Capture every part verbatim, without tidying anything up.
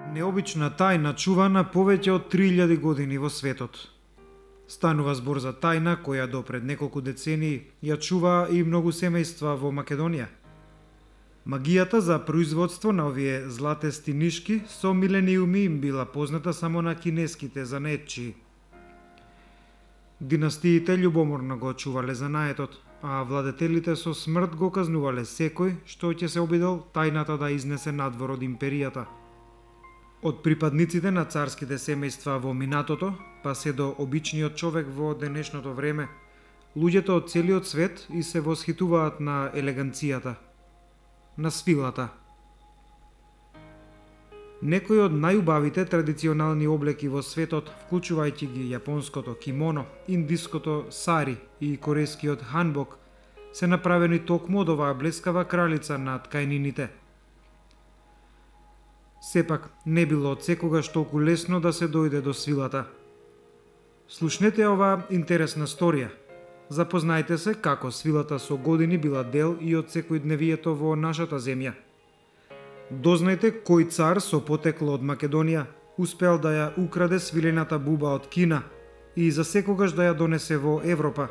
Необична тајна чувана повеќе од три илјади години во светот. Станува збор за тајна која до пред неколку децении ја чува и многу семејства во Македонија. Магијата за производство на овие златести нишки со милениуми им била позната само на кинеските занаетчии. Династиите љубоморно го чувале занаетот, а владетелите со смрт го казнувале секој што ќе се обидел тајната да изнесе надвор од империјата. Од припадниците на царските семејства во минатото, па се до обичниот човек во денешното време, луѓето од целиот свет и се восхитуваат на елеганцијата, на свилата. Некои од најубавите традиционални облеки во светот, вклучувајќи ги јапонското кимоно, индиското сари и корејскиот ханбок, се направени токму од оваа блескава кралица на ткаенините. Сепак, не било од секогаш толку лесно да се дојде до свилата. Слушнете оваа интересна сторија. Запознајте се како свилата со години била дел и од секојдневието во нашата земја. Дознајте кој цар со потекло од Македонија успеал да ја украде свилената буба од Кина и за секогаш да ја донесе во Европа,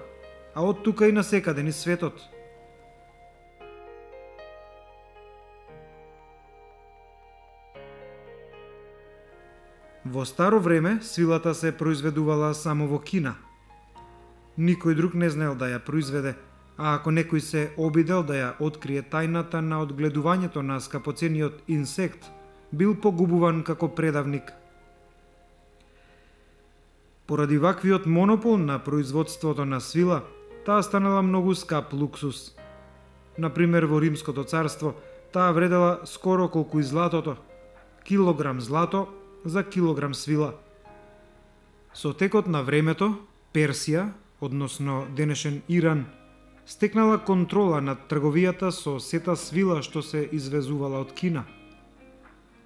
а од тука и насекаде низ светот. Во старо време свилата се произведувала само во Кина. Никој друг не знаел да ја произведе, а ако некој се обидел да ја открие тајната на одгледувањето на скапоцениот инсект, бил погубуван како предавник. Поради ваквиот монопол на производството на свила, таа станала многу скап луксус. Например, во Римското царство, таа вредела скоро колку и златото, килограм злато за килограм свила. Со текот на времето, Персија, односно денешен Иран, стекнала контрола над трговијата со сета свила што се извезувала од Кина.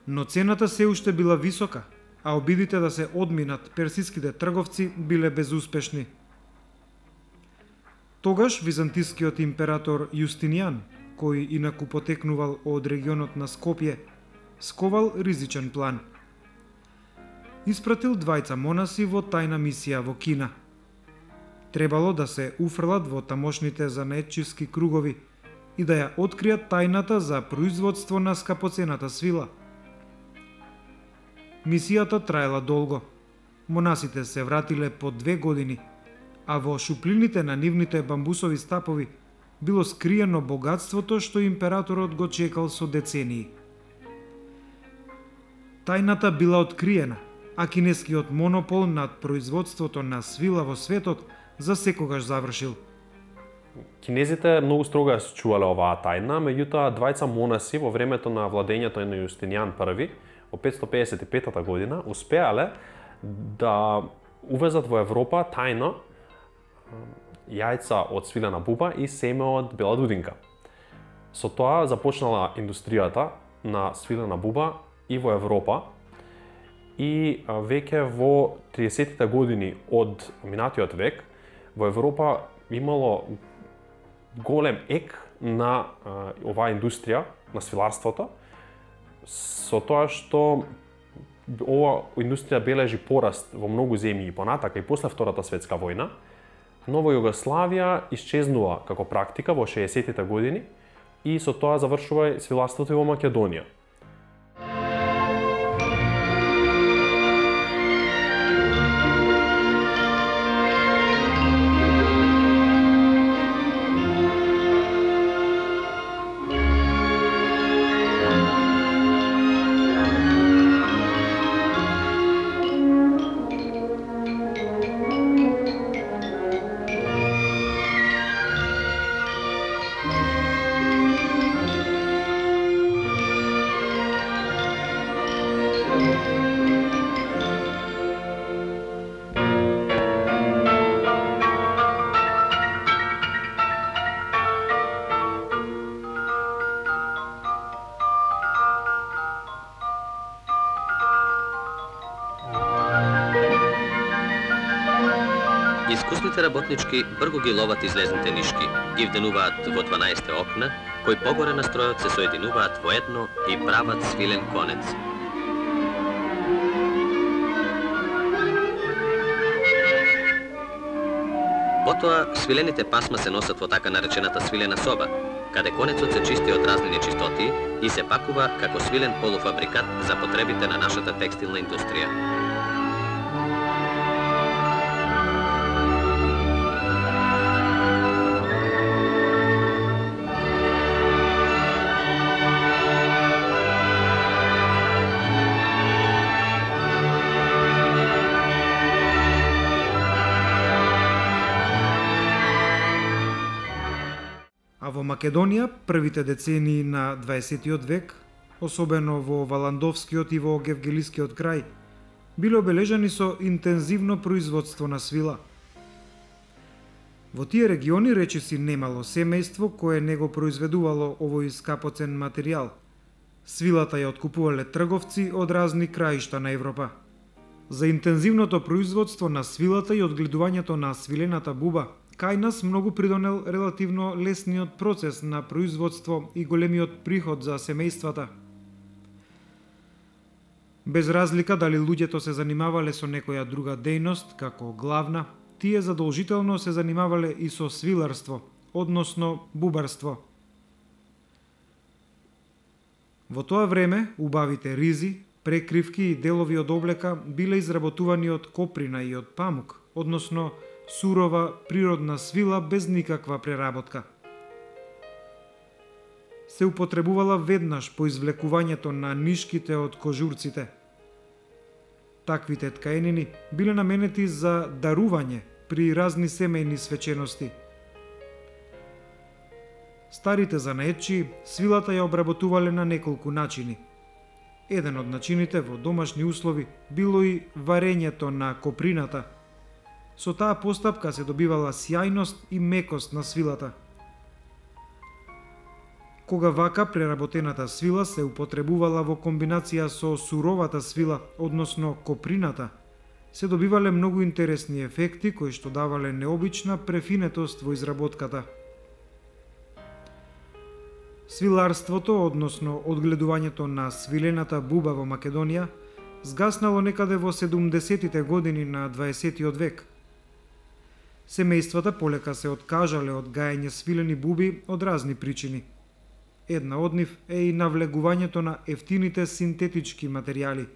Но цената се уште била висока, а обидите да се одминат персиските трговци биле безуспешни. Тогаш византискиот император Јустинијан, кој инаку потекнувал од регионот на Скопје, сковал ризичен план. Испратил двајца монаси во тајна мисија во Кина. Требало да се уфрлат во тамошните занаетчиски кругови и да ја откријат тајната за производство на скапоцената свила. Мисијата траела долго. Монасите се вратиле по две години, а во шуплините на нивните бамбусови стапови било скриено богатството што императорот го чекал со децении. Тајната била откриена, а кинескиот монопол над производството на свила во светот за секогаш завршил. Кинезите многу строго ја чувале оваа тајна, меѓутоа двајца монаси во времето на владењето на Јустинијан први, во петстотини педесет и петта година, успеале да увезат во Европа тајно јајца од свилена буба и семе од бела дудинка. Со тоа започнала индустријата на свилена буба и во Европа, и веќе во тридесеттите години од минатиот век во Европа имало голем ек на а, оваа индустрија на свиларството, со тоа што ова индустрија бележи пораст во многу земји и понатака и после Втората светска војна, но во Југославија исчезнува како практика во шеесеттите години и со тоа завршува свиларството и во Македонија. Искусните работнички брго ги ловат излезните нишки, ги вденуваат во дванаесет окна, кои погоре на стројот се соединуваат во едно и прават свилен конец. Потоа, свилените пасма се носат во така наречената свилена соба, каде конецот се чисти од разни нечистоти и се пакува како свилен полуфабрикат за потребите на нашата текстилна индустрија. А во Македонија, првите децении на дваесеттиот век, особено во Валандовскиот и во Гевгелискиот крај, биле обележани со интензивно производство на свила. Во тие региони речиси немало семејство кое не го произведувало овој скапоцен материјал. Свилата ја откупувале трговци од разни краишта на Европа. За интензивното производство на свилата и одгледувањето на свилената буба, кај нас многу придонел релативно лесниот процес на производство и големиот приход за семејствата. Без разлика дали луѓето се занимавале со некоја друга дејност, како главна, тие задолжително се занимавале и со свиларство, односно бубарство. Во тоа време, убавите ризи, прекривки и делови од облека биле изработувани од коприна и од памук, односно сурова природна свила без никаква преработка. Се употребувала веднаш по извлекувањето на нишките од кожурците. Таквите ткаенини биле наменети за дарување при разни семејни свечености. Старите занаетчи свилата ја обработувале на неколку начини. Еден од начините во домашни услови било и варењето на коприната. Со таа постапка се добивала сјајност и мекост на свилата. Кога вака преработената свила се употребувала во комбинација со суровата свила, односно коприната, се добивале многу интересни ефекти кои што давале необична префинетост во изработката. Свиларството, односно одгледувањето на свилената буба во Македонија, згаснало некаде во седумдесетите години на дваесеттиот век. Семејствата полека се откажале од гаење свилени буби од разни причини. Една од нив е и навлегувањето на ефтините синтетички материјали.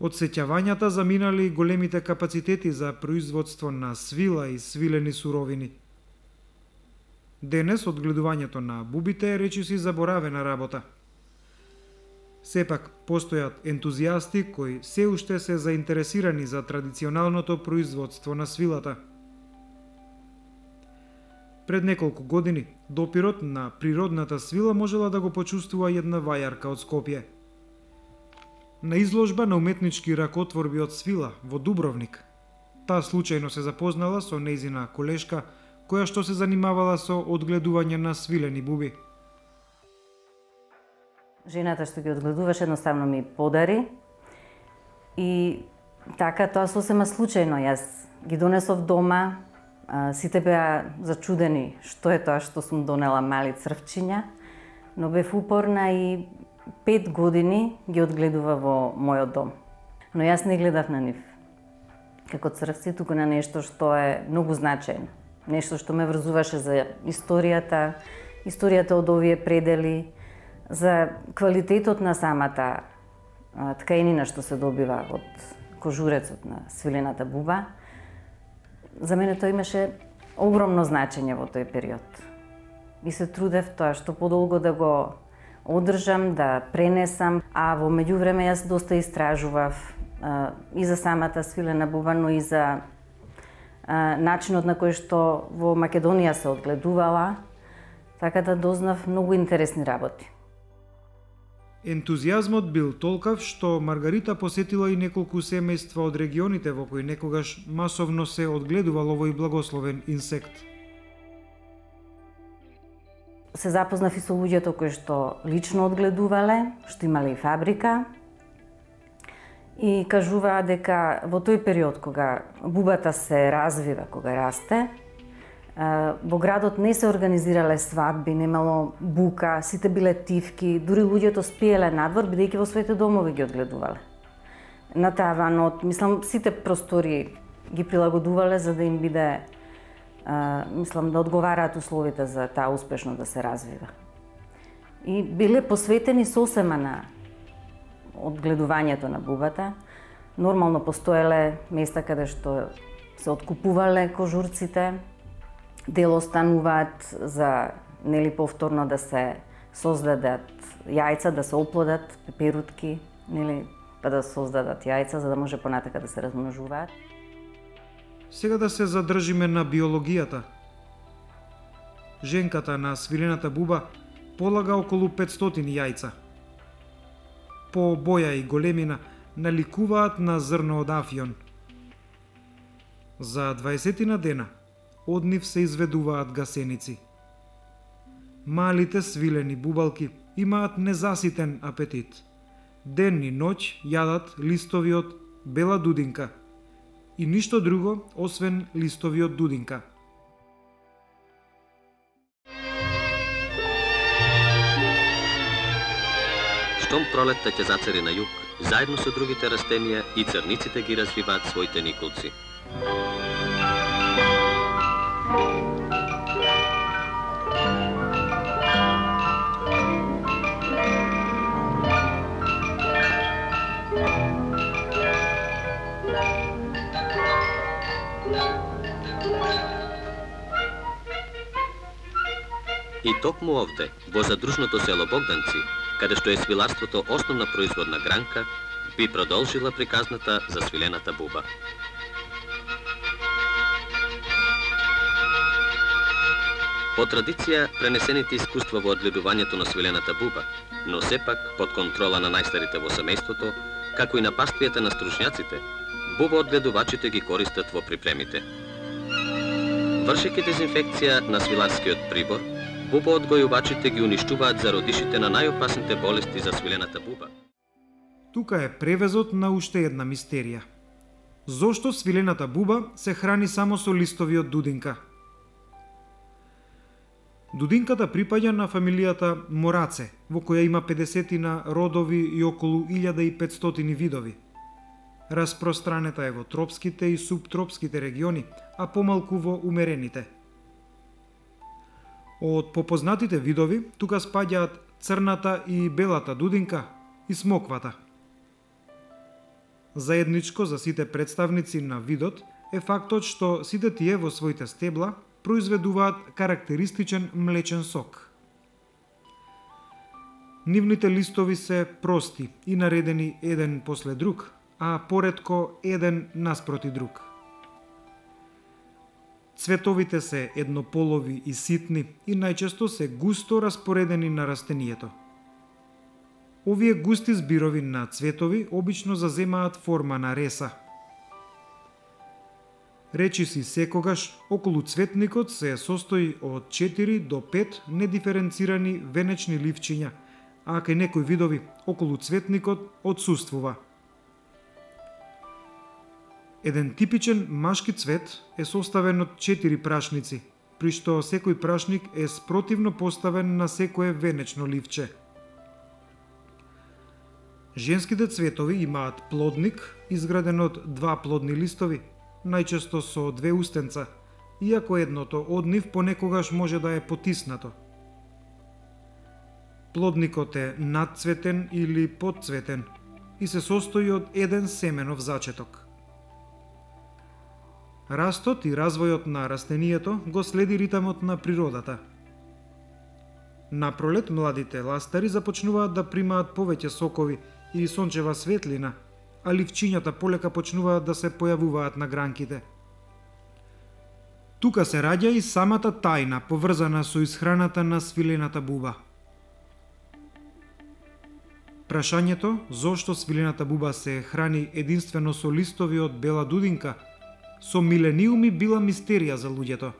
Одсеќавањата заминали и големите капацитети за производство на свила и свилени суровини. Денес одгледувањето на бубите е речиси заборавена работа. Сепак, постојат ентузијасти кои се уште се заинтересирани за традиционалното производство на свилата. Пред неколку години, допирот на природната свила можела да го почувствува една вајарка од Скопје. На изложба на уметнички ракотворби од свила во Дубровник, таа случајно се запознала со нејзина колешка, која што се занимавала со одгледување на свилени буби. Жената што ги одгледуваше едноставно ми подари и така тоа сосема случајно јас ги донесов дома. Сите беа зачудени што е тоа што сум донела мали црвчиња, но бев упорна и пет години ги одгледува во мојот дом. Но јас не гледав на нив како црвци, туку на нешто што е многу значајно. Нешто што ме врзуваше за историјата, историјата од овие предели, за квалитетот на самата ткаенина што се добива од кожурецот на свилената буба. За мене тоа имаше огромно значење во тој период. И се трудев тоа што подолго да го одржам, да пренесам, а во меѓувреме јас доста истражував а, и за самата свилена буба, но и за а, начинот на кој што во Македонија се одгледувала, така да дознав многу интересни работи. Ентузијазмот бил толкав што Маргарита посетила и неколку семејства од регионите во кои некогаш масовно се одгледувал овој благословен инсект. Се запознав и со луѓето кои што лично одгледувале, што имале и фабрика, и кажуваа дека во тој период кога бубата се развива, кога расте, во градот не се организирале свадби, немало бука, сите биле тивки, дури луѓето спиеле надвор, бидејќи во своите домови ги одгледувале. На таванот, мислам, сите простори ги прилагодувале за да им биде, а, мислам, да одговараат условите за таа успешно да се развива. И биле посветени сосема на одгледувањето на бубата. Нормално постоеле места каде што се откупувале кожурците, дел остануваат за нели повторно да се создадат јајца, да се оплодат пеперутки, нели, па да создадат јајца за да може понатака да се размножуваат. Сега да се задржиме на биологијата. Женката на свилената буба полага околу петстотини јајца. По боја и големина наликуваат на зрно од афион. За дваесетина дена од нив се изведуваат гасеници. Малите свилени бубалки имаат незаситен апетит. Ден и ноќ јадат листови од бела дудинка и ништо друго освен листови од дудинка. Штом пролетта ќе зацари на југ, заедно со другите растенија и црниците ги развиваат своите николци. И токму овде, во задружното село Богданци, каде што е свиларството основна производна гранка, би продолжила приказната за свилената буба. По традиција, пренесените искуства во одгледувањето на свилената буба, но сепак под контрола на најстарите во семејството, како и на паствијата на стручњаците, буба одгледувачите ги користат во припремите. Вршејќи дезинфекција на свиларскиот прибор, буба одгојувачите ги уништуваат зародишите на најопасните болести за свилената буба. Тука е превезот на уште една мистерија. Зошто свилената буба се храни само со листови од дудинка? Дудинката припаѓа на фамилијата Мораце, во која има педесетина родови и околу илјада и петстотини видови. Распространета е во тропските и субтропските региони, а помалку во умерените. Од попознатите видови, тука спаѓаат црната и белата дудинка и смоквата. Заедничко за сите представници на видот е фактот што сите тие во своите стебла произведуваат карактеристичен млечен сок. Нивните листови се прости и наредени еден после друг, а поретко еден наспроти друг. Цветовите се еднополови и ситни и најчесто се густо распоредени на растението. Овие густи збирови на цветови обично заземаат форма на реса. Речиси секогаш, околу цветникот се состои од четири до пет недиференцирани венечни ливчиња, а кај некои видови околу цветникот отсуствува. Еден типичен машки цвет е составен од четири прашници, при што секој прашник е спротивно поставен на секое венечно ливче. Женските цветови имаат плодник, изграден од два плодни листови, најчесто со две устенца, иако едното од нив понекогаш може да е потиснато. Плодникот е надцветен или подцветен и се состои од еден семенов зачеток. Растот и развојот на растението го следи ритамот на природата. Напролет младите ластари започнуваат да примаат повеќе сокови и сончева светлина, а ливчињата полека почнуваат да се појавуваат на гранките. Тука се раѓа и самата тајна поврзана со исхраната на свилената буба. Прашањето зошто свилената буба се храни единствено со листови од бела дудинка со милениуми била мистерија за луѓето.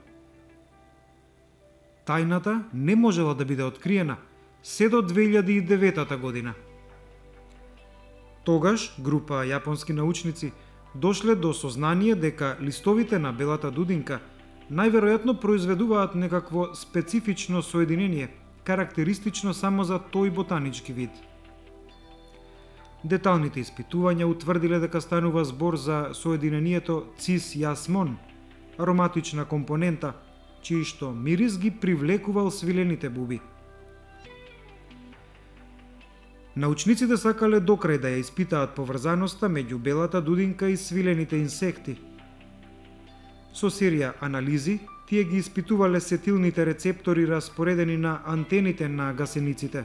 Тајната не можела да биде откриена се до две илјади и девета година. Тогаш група јапонски научници дошле до сознание дека листовите на белата дудинка најверојатно произведуваат некакво специфично соединение, карактеристично само за тој ботанички вид. Деталните испитувања утврдиле дека станува збор за соединението цис-јасмон, ароматична компонента, чиј што мирис ги привлекувал свилените буби. Научниците сакале докрај да ја испитаат поврзаноста меѓу белата дудинка и свилените инсекти. Со серија анализи, тие ги испитувале сетилните рецептори распоредени на антените на гасениците.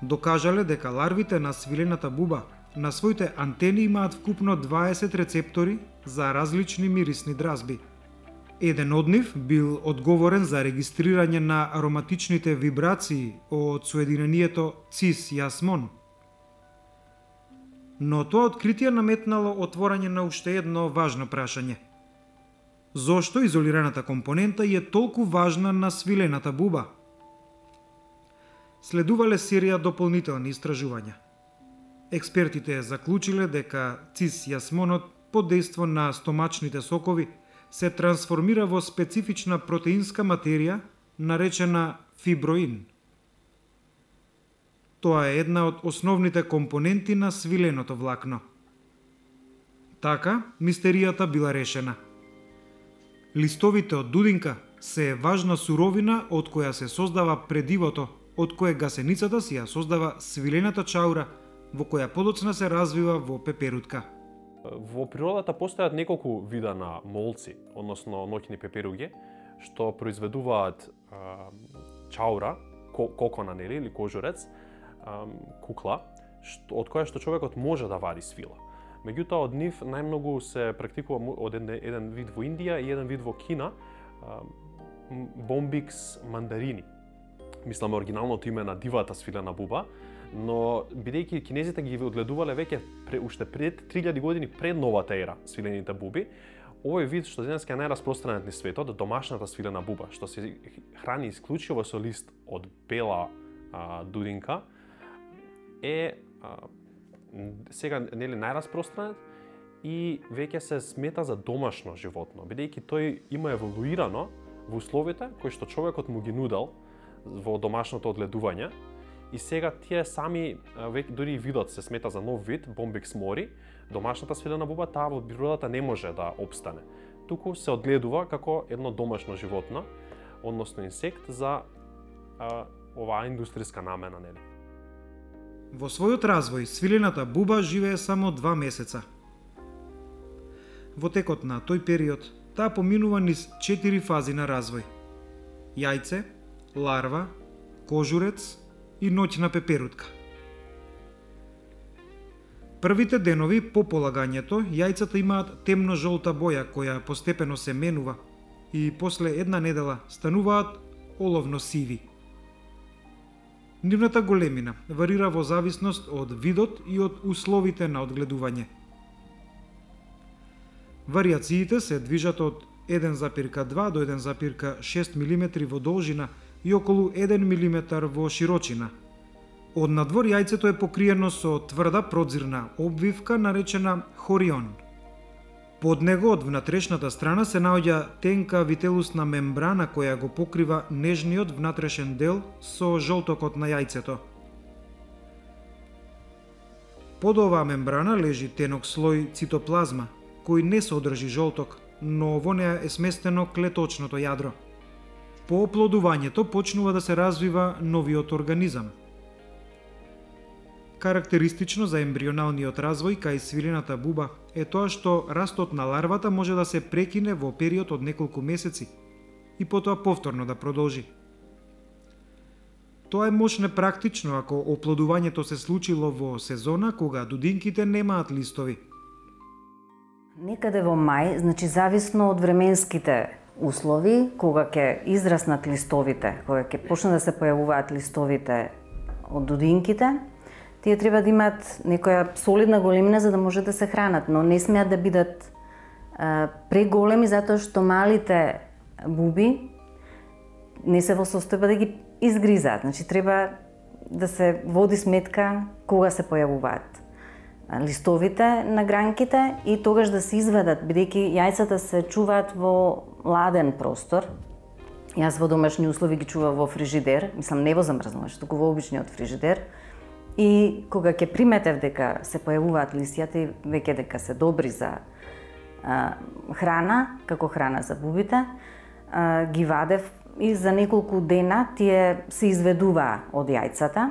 Докажале дека ларвите на свилената буба на своите антени имаат вкупно дваесет рецептори за различни мирисни дразби. Еден од нив бил одговорен за регистрирање на ароматичните вибрации од соединението цис-јасмон. Но тоа откритие наметнало отворање на уште едно важно прашање. Зошто изолираната компонента е толку важна на свилената буба? Следувале серија дополнителни истражувања. Експертите заклучиле дека цис-јасмонот под дејство на стомачните сокови се трансформира во специфична протеинска материја наречена фиброин. Тоа е една од основните компоненти на свиленото влакно. Така, мистеријата била решена. Листовите од дудинка се важна суровина од која се создава предивото, од кое гасеницата си ја создава свилената чаура, во која подоцна се развива во пеперутка. Во природата постојат неколку вида на молци, односно ноќни пеперуги, што произведуваат а, чаура, кокона, нели, или кожурец, а, кукла, што, од која што човекот може да вади свила. Меѓутоа, од нив најмногу се практикува од еден, еден вид во Индија и еден вид во Кина, а, Bombyx mandarini. Мислам, оригиналното име на дивата свилена буба, но бидејќи кинезите ги одгледувале веќе пре, уште пред три илјади години пред новата ера свилените буби, овој вид што денеска е најраспространет низ светот, домашната свилена буба, што се храни исклучиво со лист од бела а, дудинка, е а, сега нели најраспространет и веќе се смета за домашно животно, бидејќи тој има еволуирано во условите кои што човекот му ги нудел во домашното одгледување. И сега тие сами, веќе дури видот се смета за нов вид, Bombyx mori, домашната свилена буба, таа во природата не може да опстане. Туку се одгледува како едно домашно животно, односно инсект за а, оваа индустријска намена, нели. Во својот развој, свилената буба живее само два месеца. Во текот на тој период, таа поминува низ четири фази на развој. Јајце, ларва, кожурец и ноќна пеперутка. Првите денови по полагањето, јајцата имаат темно-жолта боја која постепено се менува и после една недела стануваат оловно-сиви. Нивната големина варира во зависност од видот и од условите на одгледување. Вариациите се движат од еден запирка два до еден запирка шест милиметри во должина и околу еден милиметар во широчина. Од надвор јајцето е покриено со тврда продзирна обвивка наречена хорион. Под него од внатрешната страна се наоѓа тенка вителусна мембрана која го покрива нежниот внатрешен дел со жолтокот на јајцето. Под оваа мембрана лежи тенок слој цитоплазма, кој не содржи жолток, но во неа е сместено клеточното јадро. По оплодувањето почнува да се развива новиот организам. Карактеристично за ембрионалниот развој кај свилената буба е тоа што растот на ларвата може да се прекине во период од неколку месеци и потоа повторно да продолжи. Тоа е моќне практично ако оплодувањето се случило во сезона кога дудинките немаат листови. Некаде во мај, значи зависно од временските услови, кога ќе израснат листовите, кога ќе почнат да се појавуваат листовите од дудинките, тие треба да имаат некоја солидна големина за да може да се хранат, но не смеат да бидат а, преголеми затоа што малите буби не се во состојба да ги изгризаат. Значи треба да се води сметка кога се појавуваат листовите на гранките и тогаш да се извадат, бидејќи јајцата се чуваат во ладен простор. Јас во домашни услови ги чувам во фрижидер, мислам не во замрзнувач, туку во обичниот фрижидер. И кога ќе приметев дека се појавуваат листјата и веќе дека се добри за а, храна, како храна за бубите, а, ги вадев и за неколку дена тие се изведуваа од јајцата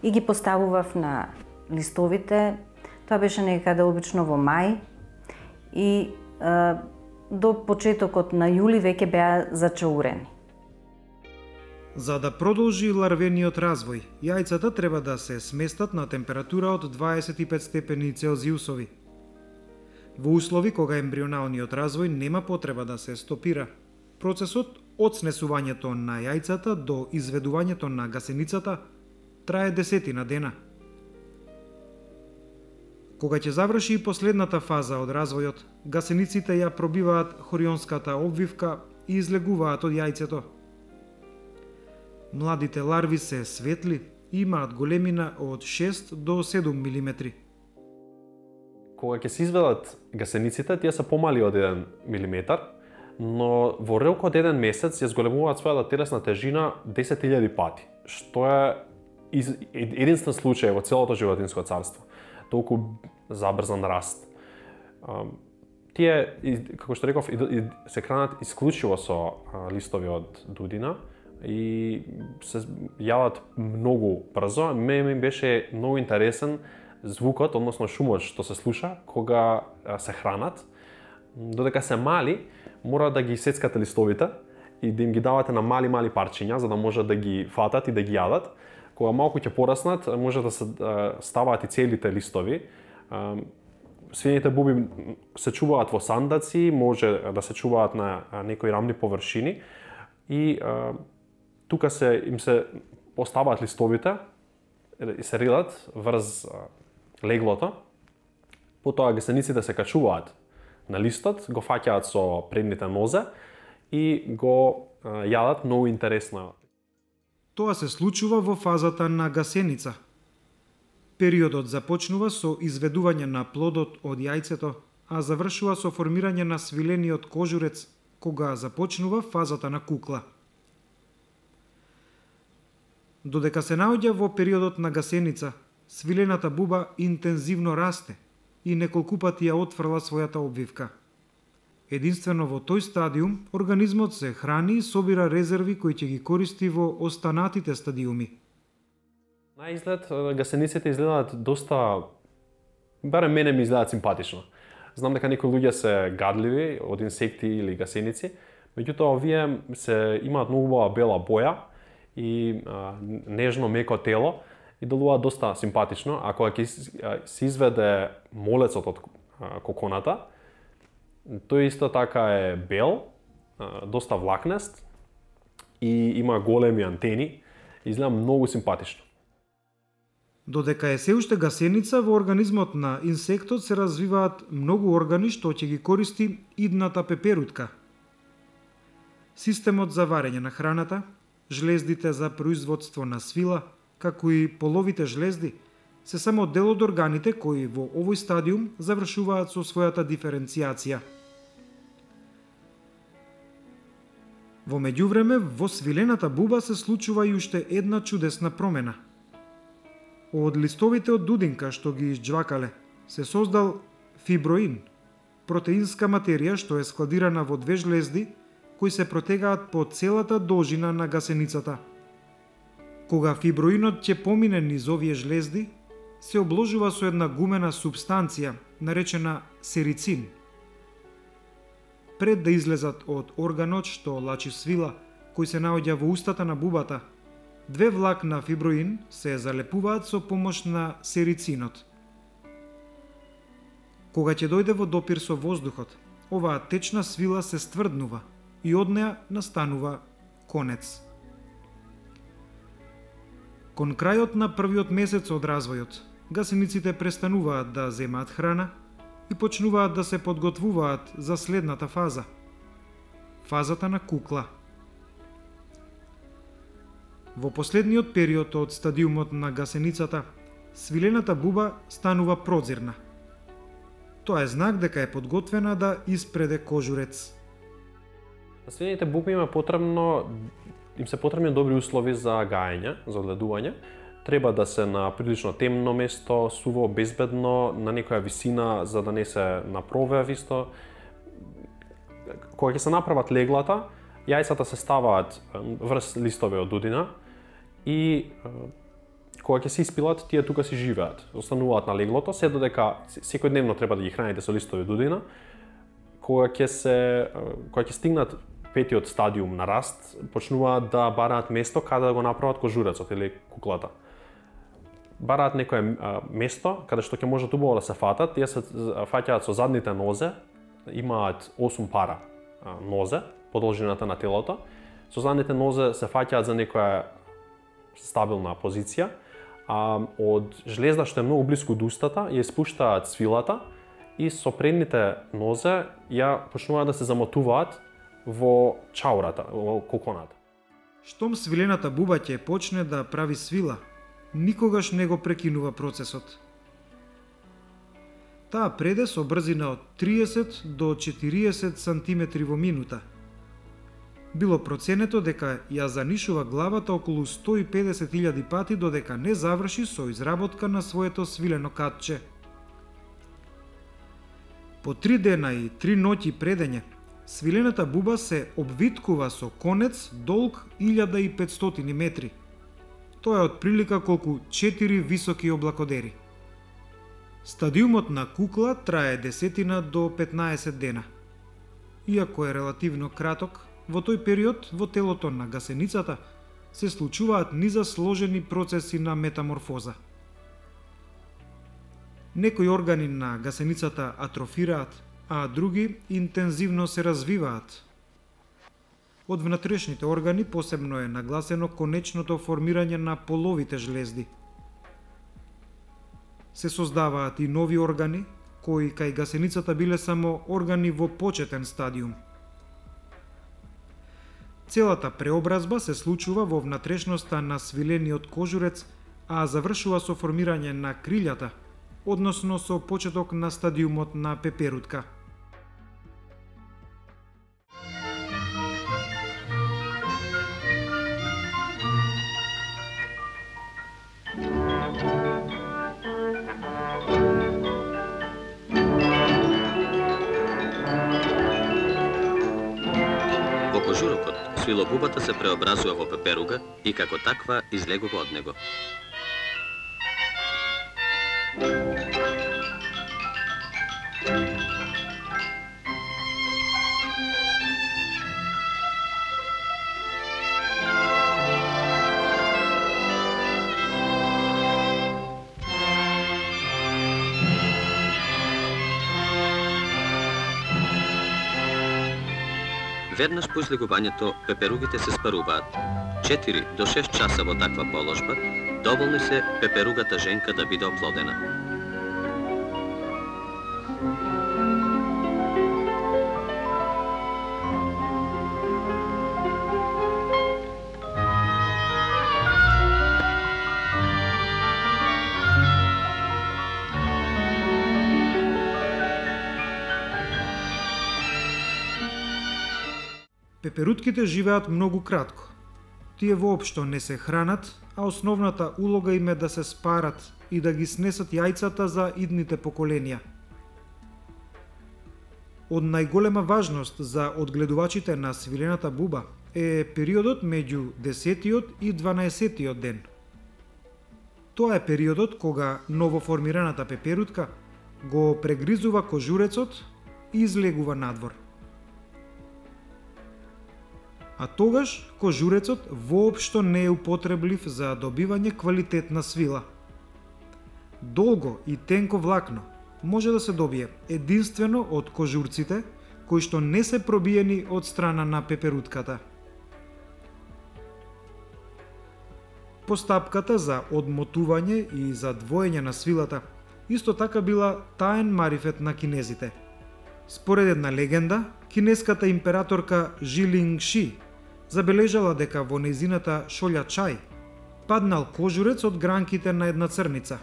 и ги поставував на листовите. Тоа беше некаде обично во мај и а, до почетокот на јули веќе беа зачаурени. За да продолжи ларвениот развој, јајцата треба да се сместат на температура од дваесет и пет степени Целзиусови. Во услови кога ембрионалниот развој нема потреба да се стопира, процесот од снесувањето на јајцата до изведувањето на гасеницата трае десетина дена. Кога ќе заврши и последната фаза од развојот, гасениците ја пробиваат хорионската обвивка и излегуваат од јајцето. Младите ларви се светли и имаат големина од шест до седум милиметри. Кога ќе се изведат гасениците, тие се помали од еден милиметар, но во рок од еден месец ја зголемуваат својата телесна тежина десет илјади пати, што е единствен случај во целото животинско царство. Толку забрзан раст. Тие, како што реков, се хранат исклучиво со листови од дудина и се јадат многу брзо. Мене ми беше многу интересен звукот, односно шумот што се слуша кога се хранат. Додека се мали, мора да ги сецкате листовите и да им ги давате на мали-мали парчиња за да можат да ги фатат и да ги јадат. Кога малку ќе пораснат, може да се ставаат и целите листови. Свините буби се чуваат во сандаци, може да се чуваат на некои рамни површини и тука се им се поставаат листовите и се релат врз леглото. Потоа гасениците се качуваат на листот, го фаќаат со предните нозе и го јадат многу интересно. Тоа се случува во фазата на гасеница. Периодот започнува со изведување на плодот од јајцето, а завршува со формирање на свилениот кожурец, кога започнува фазата на кукла. Додека се наоѓа во периодот на гасеница, свилената буба интензивно расте и неколку пати ја отфрла својата обвивка. Единствено во тој стадиум, организмот се храни и собира резерви кои ќе ги користи во останатите стадиуми. На изглед, гасениците изгледаат доста, барем мене ми изгледаат симпатично. Знам дека некои луѓе се гадливи од инсекти или гасеници, меѓутоа овие се имаат многу убава бела боја и а, нежно меко тело и делуваат доста симпатично. А кога ќе се изведе молецот од а, коконата, тој исто така е бел, а, доста влакнест и има големи антени, изгледа многу симпатично. Додека е се уште гасеница, во организмот на инсектот се развиваат многу органи што ќе ги користи идната пеперутка. Системот за варење на храната, жлездите за производство на свила, како и половите жлезди, се само дел од органите кои во овој стадиум завршуваат со својата диференцијација. Во меѓувреме, во свилената буба се случува и уште една чудесна промена. Од листовите од дудинка што ги изџвакале, се создал фиброин, протеинска материја што е складирана во две жлезди кои се протегаат по целата должина на гасеницата. Кога фиброинот ќе помине низ овие жлезди, се обложува со една гумена субстанција, наречена серицин. Пред да излезат од органот што лачи свила, кој се наоѓа во устата на бубата, две влакна фиброин се залепуваат со помош на серицинот. Кога ќе дојде во допир со воздухот, оваа течна свила се стврднува и од неа настанува конец. Кон крајот на првиот месец од развојот, гасениците престануваат да земаат храна и почнуваат да се подготвуваат за следната фаза – фазата на кукла. Во последниот период од стадиумот на гасеницата, свилената буба станува прозирна. Тоа е знак дека е подготвена да испреде кожурец. На свилените буби има потребно, им се потребни добри услови за гаење, за одледување, треба да се на прилично темно место, суво, безбедно, на некоја висина за да не се напровеа исто. Кога ќе се направат леглата, јајцата се ставаат врз листове од дудина и кога ќе се испилат, тие тука си живеат. Остануваат на леглото, се додека секојдневно треба да ги храните со листови дудина. Кога ќе се кога ќе стигнат петиот стадиум на раст, почнуваат да бараат место каде да го направат кожурецот или куклата. Бараат некое место каде што ќе можат убаво да се фатат, тие се фаќаат со задните нозе, имаат осум пара нозе по должината на телото. Со задните нозе се фаќаат за некоја стабилна позиција, а од жлезда што е многу блиску до устата ја спуштаат свилата и со предните нозе ја почнуваат да се замотуваат во чаурата, во коконата. Штом свилената буба ќе почне да прави свила, никогаш не го прекинува процесот. Таа преде со брзина од триесет до четириесет сантиметри во минута. Било проценето дека ја занишува главата околу сто и педесет илјади пати додека не заврши со изработка на своето свилено катче. По три дена и три ноќи предење, свилената буба се обвиткува со конец долг илјада и петстотини метри. Тоа е отприлика колку четири високи облакодери. Стадиумот на кукла трае десетина до петнаесет дена. Иако е релативно краток, во тој период во телото на гасеницата се случуваат низа сложени процеси на метаморфоза. Некои органи на гасеницата атрофираат, а други интензивно се развиваат. Од внатрешните органи посебно е нагласено конечното формирање на половите жлезди. Се создаваат и нови органи, кои кај гасеницата биле само органи во почетен стадиум. Целата преобразба се случува во внатрешноста на свилениот кожурец, а завршува со формирање на крилјата, односно со почеток на стадиумот на пеперутка. Во кожурокот, свилобубата се преобразува во пеперуга и како таква излегува од него. Веднаш по излегувањето, пеперугите се спаруваат. четири до шест часа во таква положба, доволни се пеперугата женка да биде оплодена. Пеперутките живеат многу кратко. Тие воопшто не се хранат, а основната улога им е да се спарат и да ги снесат јајцата за идните поколенија. Од најголема важност за одгледувачите на свилената буба е периодот меѓу десетиот и дванаесеттиот ден. Тоа е периодот кога новоформираната пеперутка го прегризува кожурецот и излегува надвор. А тогаш кожурецот воопшто не е употреблив за добивање квалитетна свила. Долго и тенко влакно може да се добие единствено од кожурците кои што не се пробиени од страна на пеперутката. Постапката за одмотување и за двоење на свилата исто така била таен марифет на кинезите. Според една легенда, кинеската императорка Жилинг Ши забележала дека во нејзината шолја чај паднал кожурец од гранките на една црница.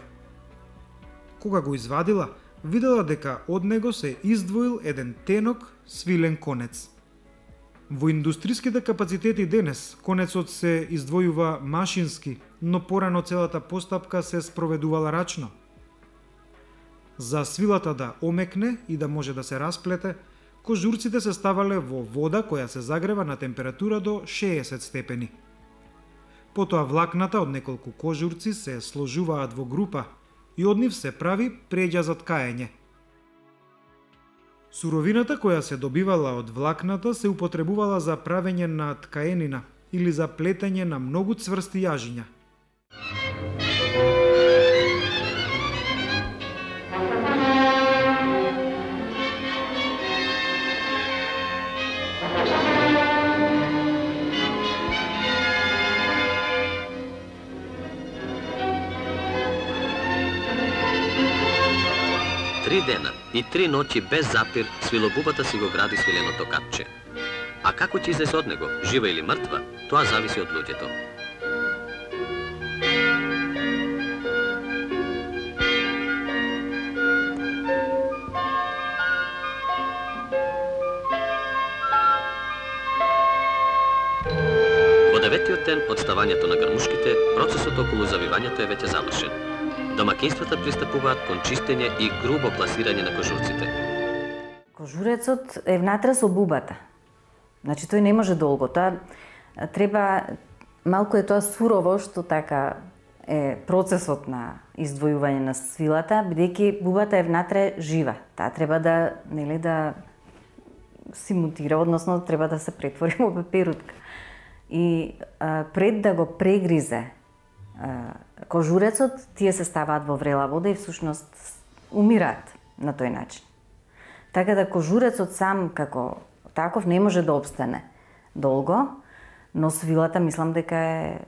Кога го извадила, видела дека од него се издвоил еден тенок свилен конец. Во индустриските капацитети денес, конецот се издвојува машински, но порано целата постапка се спроведувала рачно. За свилата да омекне и да може да се расплете, кожурците се ставале во вода која се загрева на температура до шеесет степени. Потоа влакната од неколку кожурци се сложуваат во група и од нив се прави преѓа за ткаење. Суровината која се добивала од влакната се употребувала за правење на ткаенина или за плетење на многу цврсти јажиња. Три дена и три ноќи без запир свилобубата си го гради свиленото капче. А како ќе излезе од него, жива или мртва, тоа зависи од луѓето. Во деветиот ден од ставањето на грмушките, процесот околу завивањето е веќе завршен. Домакинствата пристапуваат кон чистење и грубо пласирање на кожурците. Кожурецот е внатре со бубата. Значи тој не може долго. Тоа треба малку е тоа сурово што така е процесот на издвојување на свилата, бидејќи бубата е внатре жива. Таа треба да, нели, да си мутира, односно треба да се претвори во пеперутка. И а, пред да го прегризе а, кожурецот, тие се ставаат во врела вода и всушност умираат на тој начин. Така да кожурецот сам како таков не може да обстане долго, но свилата мислам дека е,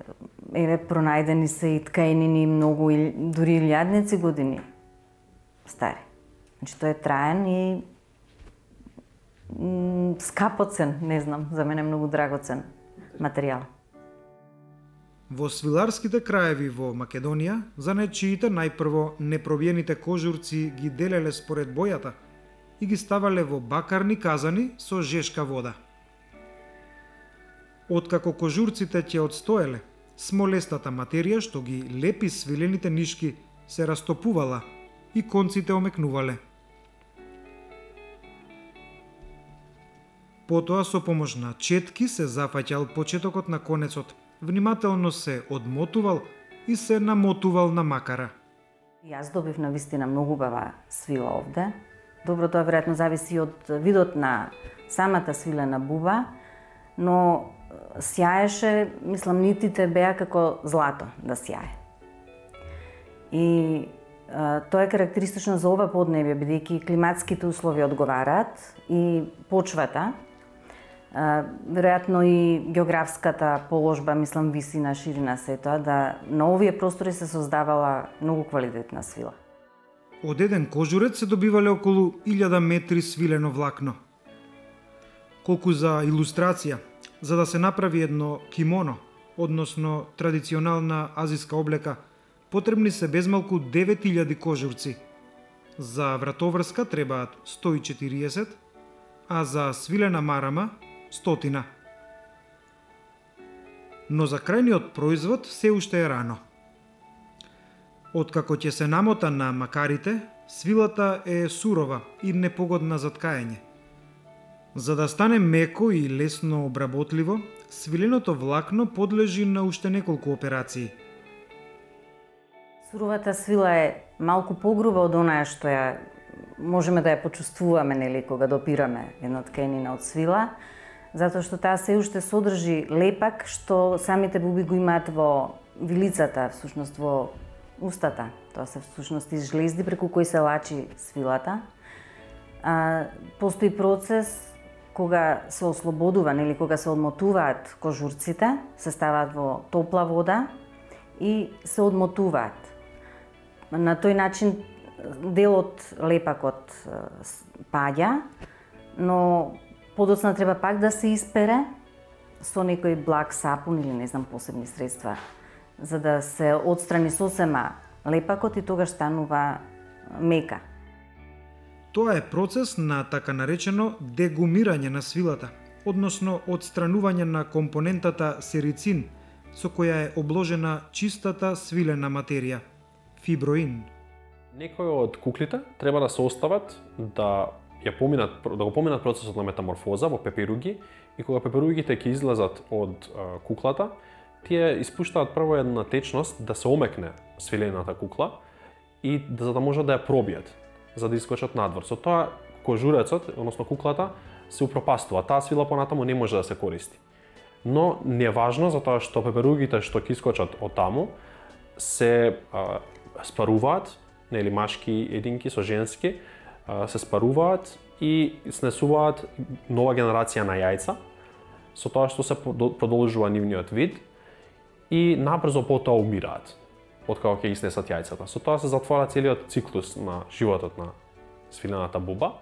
еве пронајдени се и ткаенини многу, дури илјадници години стари. Значи тој е траен и м, скапоцен, не знам, за мене многу драгоцен материјал. Во свиларските краеви во Македонија, занаечиите најпрво непробиените кожурци ги делеле според бојата и ги ставале во бакарни казани со жешка вода. Откако кожурците ќе одстоеле, смолестата материја што ги лепи свилените нишки се растопувала и конците омекнувале. Потоа со помош на четки се зафаќал почетокот на конецот, внимателно се одмотувал и се намотувал на макара. Јас добив на вистина многу убава свила овде. Добро, тоа веројатно зависи од видот на самата свилена буба, но сјаеше, мислам, нитите беа како злато да сјае. И а, тоа е карактеристично за ова поднебје, бидејќи климатските услови одговараат и почвата, а, веројатно и географската положба, мислам, висина, ширина, се тоа, да на овие простори се создавала многу квалитетна свила. Од еден кожурец се добивале околу илјада метри свилено влакно. Колку за илустрација, за да се направи едно кимоно, односно традиционална азиска облека, потребни се безмалку девет илјади кожурци. За вратоврска требаат сто и четириесет, а за свилена марама стотина. Но за крајниот производ се уште е рано. Откако ќе се намота на макарите, свилата е сурова и непогодна за ткаење. За да стане меко и лесно обработливо, свиленото влакно подлежи на уште неколку операции. Суровата свила е малку погруба од онаа што ја можеме да ја почувствуваме, нели, кога допираме една ткаенина од свила, затоа што таа се уште содржи лепак што самите буби го имаат во вилицата, всушност во устата. Тоа се всушност изжлезди преку кои се лачи свилата. А, постои процес кога се ослободува, нели, кога се одмотуваат кожурците, се ставаат во топла вода и се одмотуваат. На тој начин делот лепакот паѓа, но подоцна треба пак да се испере со некој благ сапун или не знам посебни средства, за да се отстрани сосема лепакот и тогаш станува мека. Тоа е процес на така наречено дегумирање на свилата, односно одстранување на компонентата серицин, со која е обложена чистата свилена материја, фиброин. Некои од куклите треба да се остават да ја поминат да го поминат процесот на метаморфоза во пеперуги и кога пеперугите ќе излезат од а, куклата, тие испуштаат прво една течност да се омекне свилената кукла и да, за да можат да ја пробијат, за да искочат надвор. Со тоа кожурецот, односно куклата, се упропастува. Таа свила понатаму не може да се користи. Но не е важно затоа што пеперугите што ќе искочат од таму се а, спаруваат, нели машки единки со женски, а, се спаруваат и снесуваат нова генерација на јајца, со тоа што се продолжува нивниот вид и набрзо потоа умираат откако ќе изнесат јајцата. Со тоа се затвора целиот циклус на животот на свилената буба.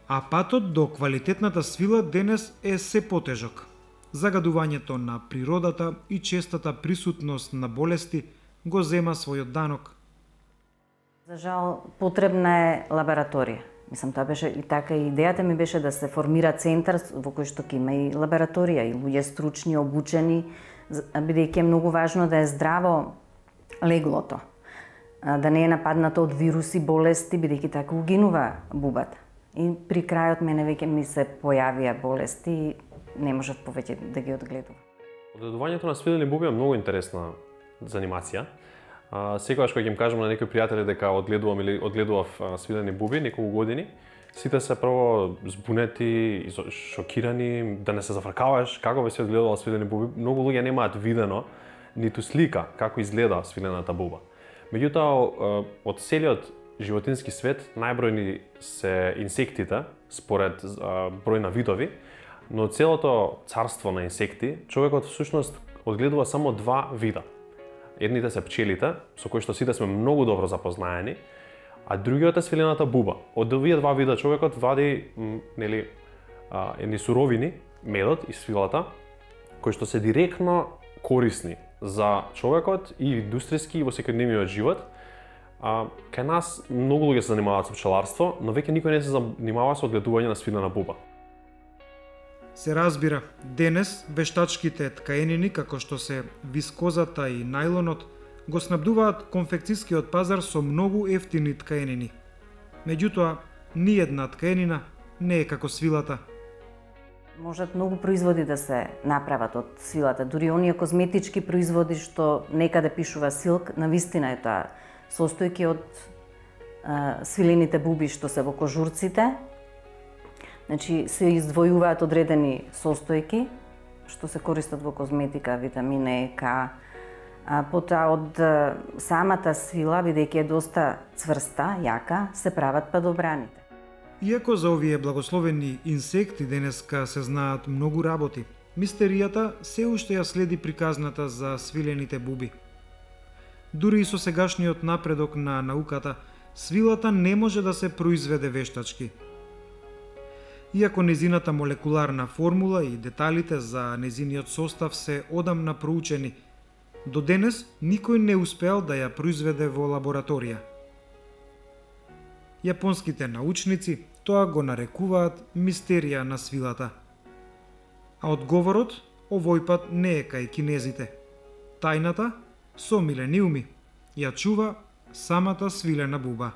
А патот до квалитетната свила денес е се потежок. Загадувањето на природата и честата присутност на болести го зема својот данок. За жал, потребна е лабораторија. Мислам, тоа беше и така и идејата ми беше да се формира центар во кој што ќе има и лабораторија и луѓе стручни, обучени, бидејќи е многу важно да е здраво леглото, да не е нападнато од вируси, болести, бидејќи така угинува бубата. И при крајот мене веќе ми се појавија болести и не можев повеќе да ги одгледувам. Одгледувањето на свилени буби е многу интересна занимација. А, секогаш кога ќе им кажам на некои пријатели дека одгледувам или одгледував а, свилени буби неколку години, сите се прво збунети, шокирани, да не се зафркаваш како би се одгледувал свилени буби. Многу луѓе немаат видено ниту слика како изгледа свилената буба. Меѓутоа, од целиот животински свет најбројни се инсектите според а, број на видови, но од целото царство на инсекти човекот всушност одгледува само два вида. Едните се пчелите, со кои што сите сме многу добро запознаени, а другиот е свилената буба. Од овие два вида човекот вади м, нели а, едни суровини, медот и свилата, кои што се директно корисни за човекот и индустријски и во секојдневниот живот. А, кај нас многу луѓе се занимаваат со пчеларство, но веќе никој не се занимава со одгледување на свилена буба. Се разбира, денес вештачките ткаенини, како што се вискозата и најлонот, го снабдуваат конфекцискиот пазар со многу ефтини ткаенини. Меѓутоа, ниедна ткаенина не е како свилата. Можат многу производи да се направат од свилата, дури оние козметички производи што некаде пишува силк, навистина е тоа состојки од а, свилените буби што се во кожурците. Значи, се издвојуваат одредени состојки што се користат во козметика, витамин Е, К. А потоа од а, самата свила, бидејќи е доста цврста, јака, се прават падобраните. Иако за овие благословени инсекти денеска се знаат многу работи, мистеријата се уште ја следи приказната за свилените буби. Дури и со сегашниот напредок на науката, свилата не може да се произведе вештачки. Иако незината молекуларна формула и деталите за незиниот состав се одамна проучени, до денес никој не успеал да ја произведе во лабораторија. Јапонските научници тоа го нарекуваат мистерија на свилата. А одговорот овој пат не е кај кинезите. Тајната со милениуми ја чува самата свилена буба.